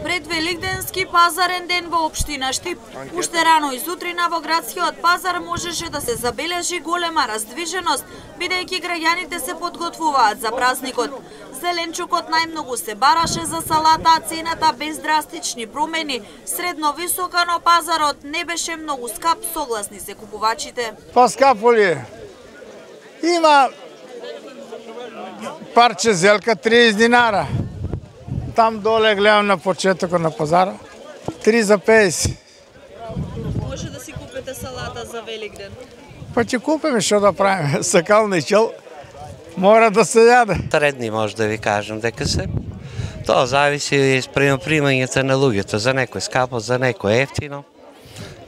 Пред Великденски пазарен ден во општина Штип, уште рано и сутрина во градскиот пазар можеше да се забележи голема раздвиженост, бидејќи граѓаните се подготвуваат за празникот. Зеленчукот најмногу се бараше за салата, а цената без драстични промени, средно висока, но пазарот не беше многу скап, согласни се купувачите. Па скапо ли е? Има парче зелка 30 динара. Там доле гледам на почетокот на пазара 3 за 50. Може да си купите салата за Великден? Па ќе купиме, што да правиме? Сакални чел мора да се јаде. Средни може да ви кажем дека се. Тоа зависи и спрема примањето на луѓето. За некој скапо, за некој ефтино.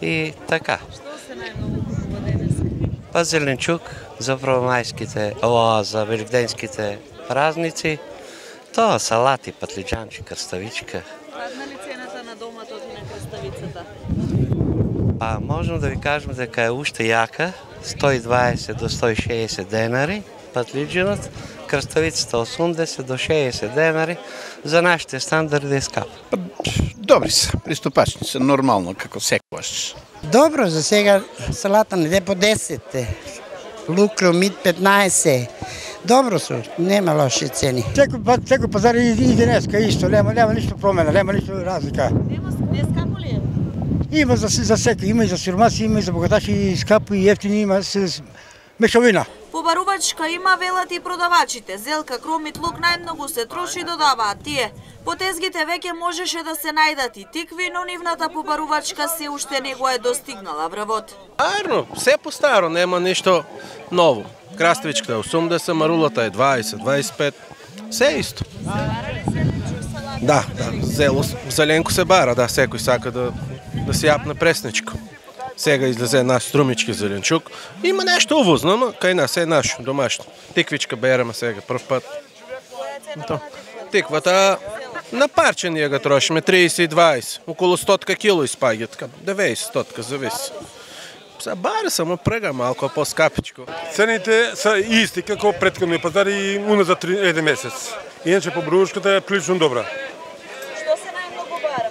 И така. Што се најмногу купува денес? Па зеленчук за првомајските, за великденските празници. Тоа салати, патлиџанчи, крставичка. Падна ли цената на доматот и на крставицата? Па можем да ви кажем дека е уште јака, 120 до 160 денари, патлиџанот, крставицата 80 до 60 денари, за нашите стандарди е скап. Добри се, приступачни се, нормално, како секогаш. Добро, за сега салата не по 10, лук, мит 15. Добро су, нема лоши цени. Секој пазар и денеска исто, нема ништо промена, нема ништо разлика. Не скапо ли е? Има за секој, има и за сиромаси, има и за богаташи, и скапо и ефтини, има се мешавина. Побарувачка има, велат и продавачите. Зелка, кромит, лук најмногу се троши, додаваат тие. По тезгите веќе можеше да се најдат и тикви, но нивната побарувачка се уште не го е достигнала врвот. Арно, се по-старо, нема ништо ново. Краставичката е 80, марулата е 20, 25, се исто. Бара ли зеленчук, салата? Да, зеленко се бара, да, секој сака да се јапне пресничко. Сега излезе наш струмички зеленчук. Има нешто увозно, ама кај нас е наш, домашно. Тиквичка береме сега прв пат. Тиквата на парче ние ga трошиме 30 и 20, околу 100 кило испаѓа, така 90-100 зависи. Бара само прега малко по-скапичко. Цените са исти како претходни пазари и уназад еден месец. Иначе побарувачката е прилично добра. Што се најмногу бара?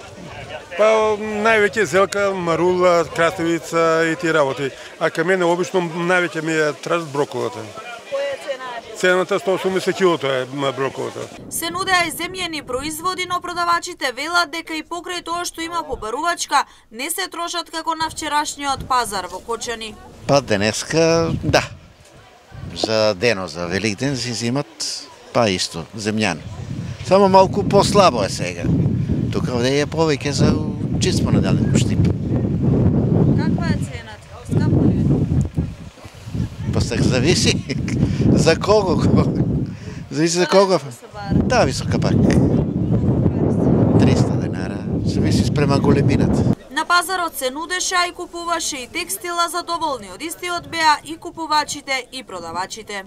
Па највеќе зелка, марула, краставица и тие работи. А кај мене обично највеќе ми е траст броколата. Која цена е? Цената 180 килото е броколата. Се нудеа и земјени производи, но продавачите велат дека и покрај тоа што има побарувачка, не се трошат како на вчерашниот пазар во Кочани. Па денеска, да. За денот, за Великден си зимат па исто, земјани. Само малку послабо е сега. Тука овде е повеќе за чист понеделник Штип. Каква е цената? Скапо ли е? Па сега зависи за кого. Зависи за кого. Да, висока пак. 300 денара, зависи спрема големината. На пазарот се нудеше, а и купуваше и текстила, задоволни од истиот беа и купувачите и продавачите.